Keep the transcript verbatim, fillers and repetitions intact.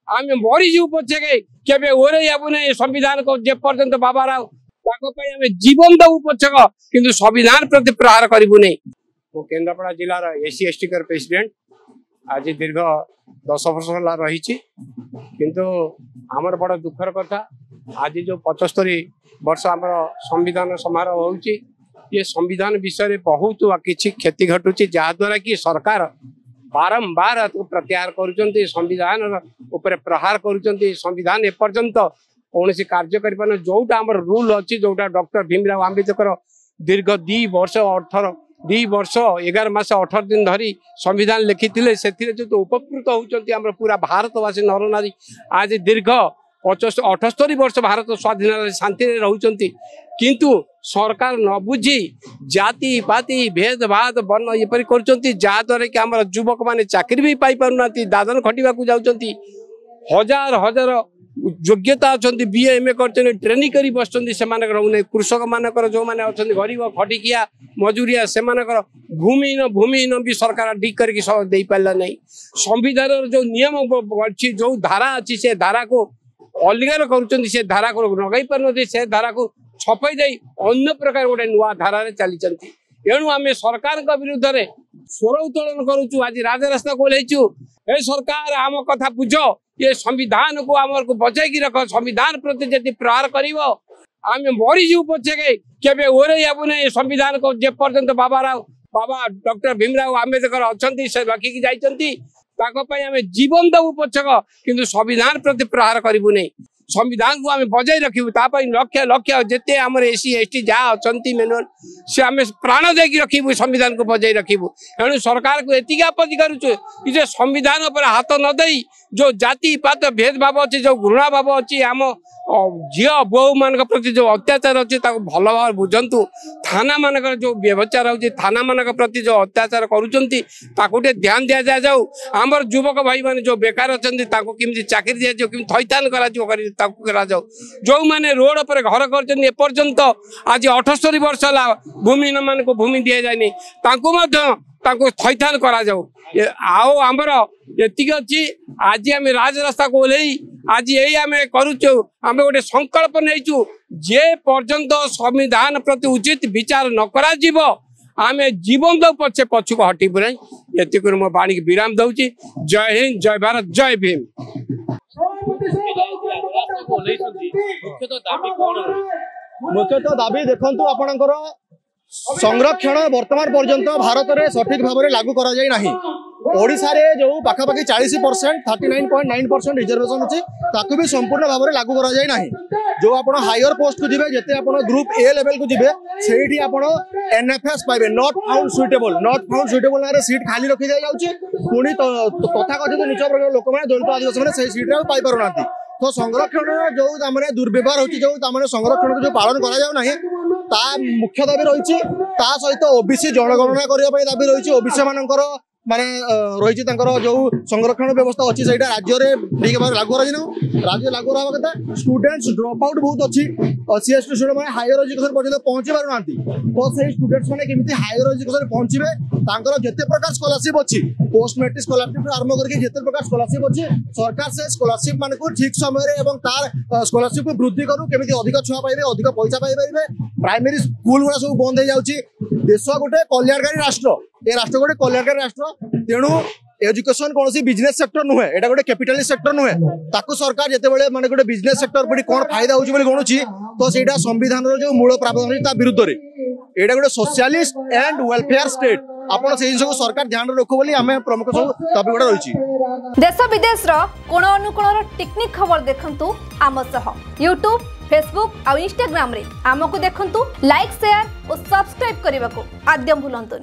ଆମେ ମରିଯିବୁ ପଛକେ କେବେ ଓହ୍ଲେଇ ହେବୁ ନାହିଁ ସମ୍ବିଧାନକୁ ଯେ ପର୍ଯ୍ୟନ୍ତ ବାବା ରାଓ ତାଙ୍କ ପାଇଁ ଆମେ ଜୀବନ ଦବୁ ପଛକ କିନ୍ତୁ ସମ୍ବିଧାନ ପ୍ରତି ପ୍ରହାର କରିବୁ ନାହିଁ ମୁଁ କେନ୍ଦ୍ରାପଡ଼ା ଜିଲ୍ଲାର ଏସ୍ ସି ଏସ୍ ଟିଙ୍କର ପ୍ରେସିଡେଣ୍ଟ ଆଜି ଦୀର୍ଘ ଦଶ ବର୍ଷ ହେଲା ରହିଛି କିନ୍ତୁ ଆମର ବଡ଼ ଦୁଃଖର କଥା ଆଜି ଯେଉଁ ପଚସ୍ତରୀ ବର୍ଷ ଆମର ସମ୍ବିଧାନ ସମାରୋହ ହେଉଛି ଏ ସମ୍ବିଧାନ ବିଷୟରେ ବହୁତ କିଛି କ୍ଷତି ଘଟୁଛି ଯାହାଦ୍ୱାରା କି ସରକାର ବାରମ୍ବାର ତାକୁ ପ୍ରତ୍ୟାହାର କରୁଛନ୍ତି ସମ୍ବିଧାନର ଉପରେ ପ୍ରହାର କରୁଛନ୍ତି ସମ୍ବିଧାନ ଏପର୍ଯ୍ୟନ୍ତ କୌଣସି କାର୍ଯ୍ୟ କରିପାରୁନି ଯୋଉଟା ଆମର ରୁଲ ଅଛି ଯୋଉଟା ଡକ୍ଟର ଭୀମରାଓ ଆମ୍ବେଦକର ଦୀର୍ଘ ଦି ବର୍ଷ ଅଠର ଦି ବର୍ଷ ଏଗାର ମାସ ଅଠର ଦିନ ଧରି ସମ୍ବିଧାନ ଲେଖିଥିଲେ ସେଥିରେ ଯେହେତୁ ଉପକୃତ ହଉଛନ୍ତି ଆମର ପୁରା ଭାରତବାସୀ ନରନାରୀ ଆଜି ଦୀର୍ଘ ପଚସ୍ତ ଅଠସ୍ତରୀ ବର୍ଷ ଭାରତ ସ୍ୱାଧୀନ ଶାନ୍ତିରେ ରହୁଛନ୍ତି କିନ୍ତୁ ସରକାର ନ ବୁଝି ଜାତି ପାତି ଭେଦଭାଦ ବର୍ଣ୍ଣ ଏପରି କରୁଛନ୍ତି ଯାହାଦ୍ୱାରା କି ଆମର ଯୁବକମାନେ ଚାକିରି ବି ପାଇପାରୁନାହାନ୍ତି ଦାଦନ ଖଟିବାକୁ ଯାଉଛନ୍ତି ହଜାର ହଜାର ଯୋଗ୍ୟତା ଅଛନ୍ତି ବି ଏମ୍ ଏ କରିଛନ୍ତି ଟ୍ରେନିଂ କରି ବସିଛନ୍ତି ସେମାନଙ୍କର ରହୁନାହିଁ କୃଷକମାନଙ୍କର ଯେଉଁମାନେ ଅଛନ୍ତି ଗରିବ ଖଟିକିଆ ମଜୁରିଆ ସେମାନଙ୍କର ଭୂମିହୀନ ଭୂମିହୀନ ବି ସରକାର ଠିକ୍ କରିକି ସ- ଦେଇପାରିଲା ନାହିଁ ସମ୍ବିଧାନର ଯୋଉ ନିୟମ ଅଛି ଯୋଉ ଧାରା ଅଛି ସେ ଧାରାକୁ ଅଲଗା କରୁଛନ୍ତି ସେ ଧାରାକୁ ଲଗାଇ ପାରୁନାହାନ୍ତି ସେ ଧାରାକୁ ଛପେଇ ଦେଇ ଅନ୍ୟ ପ୍ରକାର ଗୋଟେ ନୂଆ ଧାରାରେ ଚାଲିଛନ୍ତି ଏଣୁ ଆମେ ସରକାରଙ୍କ ବିରୁଦ୍ଧରେ ସ୍ୱର ଉତ୍ତୋଳନ କରୁଛୁ ଆଜି ରାଜରାସ୍ତାକୁ ଓହ୍ଲେଇଛୁ ଏ ସରକାର ଆମ କଥା ବୁଝ ଏ ସମ୍ବିଧାନକୁ ଆମକୁ ବଞ୍ଚେଇକି ରଖ ସମ୍ବିଧାନ ପ୍ରତି ଯଦି ପ୍ରହାର କରିବ ଆମେ ମରିଯିବୁ ପଛକେ କେବେ ଓହ୍ଲେଇ ହେବୁ ନାହିଁ ସମ୍ବିଧାନକୁ ଯେ ପର୍ଯ୍ୟନ୍ତ ବାବା ରାଓ ବାବା ଡକ୍ଟର ଭୀମରାଓ ଆମ୍ବେଦକର ଅଛନ୍ତି ସେ ରଖିକି ଯାଇଛନ୍ତି ତାଙ୍କ ପାଇଁ ଆମେ ଜୀବନ ଦବୁ ପଛକ କିନ୍ତୁ ସମ୍ବିଧାନ ପ୍ରତି ପ୍ରହାର କରିବୁ ନାହିଁ ସମ୍ବିଧାନକୁ ଆମେ ବଜାଇ ରଖିବୁ ତା ପାଇଁ ଲକ୍ଷ ଲକ୍ଷ ଯେତେ ଆମର ଏସ୍ ସି ଏସ୍ ଟି ଯାହା ଅଛନ୍ତି ମେନୁଆଲ ସେ ଆମେ ପ୍ରାଣ ଦେଇକି ରଖିବୁ ସମ୍ବିଧାନକୁ ବଜାଇ ରଖିବୁ ଏଣୁ ସରକାରକୁ ଏତିକି ଆପତ୍ତି କରୁଛୁ କି ଯେ ସମ୍ବିଧାନ ଉପରେ ହାତ ନ ଦେଇ ଯୋଉ ଜାତି ପାତ ଭେଦଭାବ ଅଛି ଯୋଉ ଘୃଣା ଭାବ ଅଛି ଆମ ଅ, ଝିଅ ବୋହୂ ମାନଙ୍କ ପ୍ରତି ଯୋଉ ଅତ୍ୟାଚାର ଅଛି ତାକୁ ଭଲ ଭାବରେ ବୁଝନ୍ତୁ ଥାନା ମାନଙ୍କର ଯୋଉ ବ୍ୟବଚାର ହଉଛି ଥାନା ମାନଙ୍କ ପ୍ରତି ଯୋଉ ଅତ୍ୟାଚାର କରୁଛନ୍ତି ତାକୁ ଟିକେ ଧ୍ୟାନ ଦିଆଯାଉ ଆମର ଯୁବକ ଭାଇମାନେ ଯୋଉ ବେକାର ଅଛନ୍ତି ତାଙ୍କୁ କେମିତି ଚାକିରି ଦିଆଯିବ କେମିତି ଥଇଥାନ କରାଯିବ କରି ତାକୁ କରାଯାଉ ଯୋଉମାନେ ରୋଡ ଉପରେ ଘର କରିଛନ୍ତି ଏପର୍ଯ୍ୟନ୍ତ ଆଜି ଅଠସ୍ତରୀ ବର୍ଷ ହେଲା ଭୂମିହୀନ ମାନଙ୍କୁ ଭୂମି ଦିଆଯାଇନି ତାଙ୍କୁ ମଧ୍ୟ ତାଙ୍କୁ ଥଇଥାନ କରାଯାଉ ଏ ଆଉ ଆମର ଏତିକି ଅଛି ଆଜି ଆମେ ରାଜରାସ୍ତାକୁ ଓହ୍ଲେଇ ଆଜି ଏଇ ଆମେ କରୁଛୁ ଆମେ ଗୋଟେ ସଂକଳ୍ପ ନେଇଛୁ ଯେ ପର୍ଯ୍ୟନ୍ତ ସମ୍ବିଧାନ ପ୍ରତି ଉଚିତ ବିଚାର ନ କରାଯିବ ଆମେ ଜୀବନ ଦଉ ପଛେ ପଛକୁ ହଟିବୁ ନାହିଁ ଏତିକିରୁ ମୋ ବାଣୀକି ବିରାମ ଦଉଛି ଜୟ ହିନ୍ଦ ଜୟ ଭାରତ ଜୟ ଭୀମ ରାସ୍ତାକୁ ଓହ୍ଲେଇଛନ୍ତି ମୁଖ୍ୟତଃ ଦାବି କଣ ରହିଛି ମୁଖ୍ୟତଃ ଦାବି ଦେଖନ୍ତୁ ଆପଣଙ୍କର ସଂରକ୍ଷଣ ବର୍ତ୍ତମାନ ପର୍ଯ୍ୟନ୍ତ ଭାରତରେ ସଠିକ ଭାବରେ ଲାଗୁ କରାଯାଇ ନାହିଁ ଓଡ଼ିଶାରେ ଯୋଉ ପାଖାପାଖି ଚାଳିଶ percent thirty nine point nine percent reservation ଅଛି ତାକୁ ବି ସମ୍ପୂର୍ଣ୍ଣ ଭାବରେ ଲାଗୁ କରାଯାଇ ନାହିଁ ଯୋଉ ଆପଣ ହାୟର ପୋଷ୍ଟକୁ ଯିବେ ଯେତେ ଆପଣ ଗ୍ରୁପ ଏ ଲେଭେଲକୁ ଯିବେ ସେଇଠି ଆପଣ ଏନ୍ଏଫଏସ୍ ପାଇବେ not found suitable not found suitable ନାଁରେ ସିଟ୍ ଖାଲି ରଖି ଦିଆଯାଉଛି ପୁଣି ତ- ତଥାକଥିତ ନିଚ ବର୍ଗର ଲୋକମାନେ ଦଳିତ ଆଦିବାସୀ ମାନେ ସେଇ ସିଟ୍ରେ ଆଉ ପାଇପାରୁନାହାନ୍ତି ତ ସଂରକ୍ଷଣର ଯୋଉ ତାମାନେ ଦୁର୍ବ୍ୟବହାର ହଉଛି ଯୋଉ ତାମାନେ ସଂରକ୍ଷଣକୁ ଯୋଉ ପାଳନ କରାଯାଉ ନାହିଁ ତା ମୁଖ୍ୟ ଦାବି ରହିଛି ତା ସହିତ ଓବିସି ଜନଗଣନା କରିବା ପାଇଁ ଦାବି ରହିଛି ଓବିସି ମାନଙ୍କର ମାନେ ଅ, ରହିଛି ତାଙ୍କର ଯୋଉ ସଂରକ୍ଷଣ ବ୍ୟବସ୍ଥା ଅଛି ସେଇଟା ରାଜ୍ୟରେ ଠିକ ଭାବରେ ଲାଗୁ କରାଯାଇ ରାଜ୍ୟ ଲାଗୁ ହେବା କଥା ଷ୍ଟୁଡେଣ୍ଟସ ଡ୍ରପ୍ ଆଉଟ୍ ବହୁତ ଅଛି ସି ଏସ୍ ଟି ଷ୍ଟୁଡେଣ୍ଟ ମାନେ ହାୟର ଏଜୁକେସନ ପର୍ଯ୍ୟନ୍ତ ପହଞ୍ଚି ପାରୁନାହାନ୍ତି ତ ସେଇ ଷ୍ଟୁଡେଣ୍ଟସ ମାନେ କେମିତି ହାୟର ଏଜୁକେସନ ପହଞ୍ଚିବେ ତାଙ୍କର ଯେତେ ପ୍ରକାର ସ୍କଲାରସିପ ଅଛି ପୋଷ୍ଟ ମେଟ୍ରିକ ସ୍କଲାରସିପ ଆରମ୍ଭ କରିକି ଯେତେ ପ୍ରକାର ସ୍କଲାରସିପ ଅଛି ସରକାର ସେ ସ୍କଲାରସିପ ମାନଙ୍କୁ ଠିକ ସମୟରେ ଏବଂ ତାର ସ୍କଲାରସିପ କୁ ବୃଦ୍ଧି କରୁ କେମିତି ଅଧିକ ଛୁଆ ପାଇବେ ଅଧିକ ପଇସା ପାଇପାରିବେ ପ୍ରାଇମେରୀ ସ୍କୁଲ ଗୁଡା ସବୁ ବନ୍ଦ ହେଇଯାଉଛି ଦେଶ ଗୋଟେ କଲ୍ୟାଣକାରୀ ରାଷ୍ଟ୍ର ଏ ରାଷ୍ଟ୍ର ଗୋଟେ କଲ୍ୟାଣକାରୀ ରାଷ୍ଟ୍ର ତେଣୁ ଏଜୁକେସନ କୌଣସି ବିଜନେସ ସେକ୍ଟର ନୁହେଁ ଏଇଟା ଗୋଟେ କ୍ୟାପିଟାଲିଷ୍ଟ ସେକ୍ଟର ନୁହେଁ ତାକୁ ସରକାର ଯେତେବେଳେ ମାନେ ଗୋଟେ ବିଜନେସ ସେକ୍ଟର ପରି କଣ ଫାଇଦା ହଉଛି ବୋଲି ଗଣୁଛି ତ ସେଇଟା ସମ୍ବିଧାନର ଯୋଉ ମୂଳ ପ୍ରାବଧାନ ଅଛି ତା ବିରୁଦ୍ଧରେ ଏଇଟା ଗୋଟେ ସୋସିଆଲିଷ୍ଟ ଆଣ୍ଡ ୱେଲଫେୟାର ଷ୍ଟେଟ ଆପଣ ସେଇ ଜିନିଷକୁ ସରକାର ଧ୍ୟାନରେ ରଖୁ ବୋଲି ଆମେ ପ୍ରମୁଖ ସବୁ ଦାବି ଗୁଡା ରହିଛି ଦେଶ ବିଦେଶର କୋଣ ଅନୁକୋଣର ଟିକିନିଖି ଖବର ଦେଖନ୍ତୁ ଆମ ସହ ୟୁଟ୍ୟୁବ୍ ଫେସବୁକ୍ ଆଉ ଇନଷ୍ଟାଗ୍ରାମରେ ଆମକୁ ଦେଖନ୍ତୁ ଲାଇକ୍ ସେୟାର ଓ ସବସ୍କ୍ରାଇବ୍ କରିବାକୁ ଆଦୌ ଭୁଲନ୍ତୁନି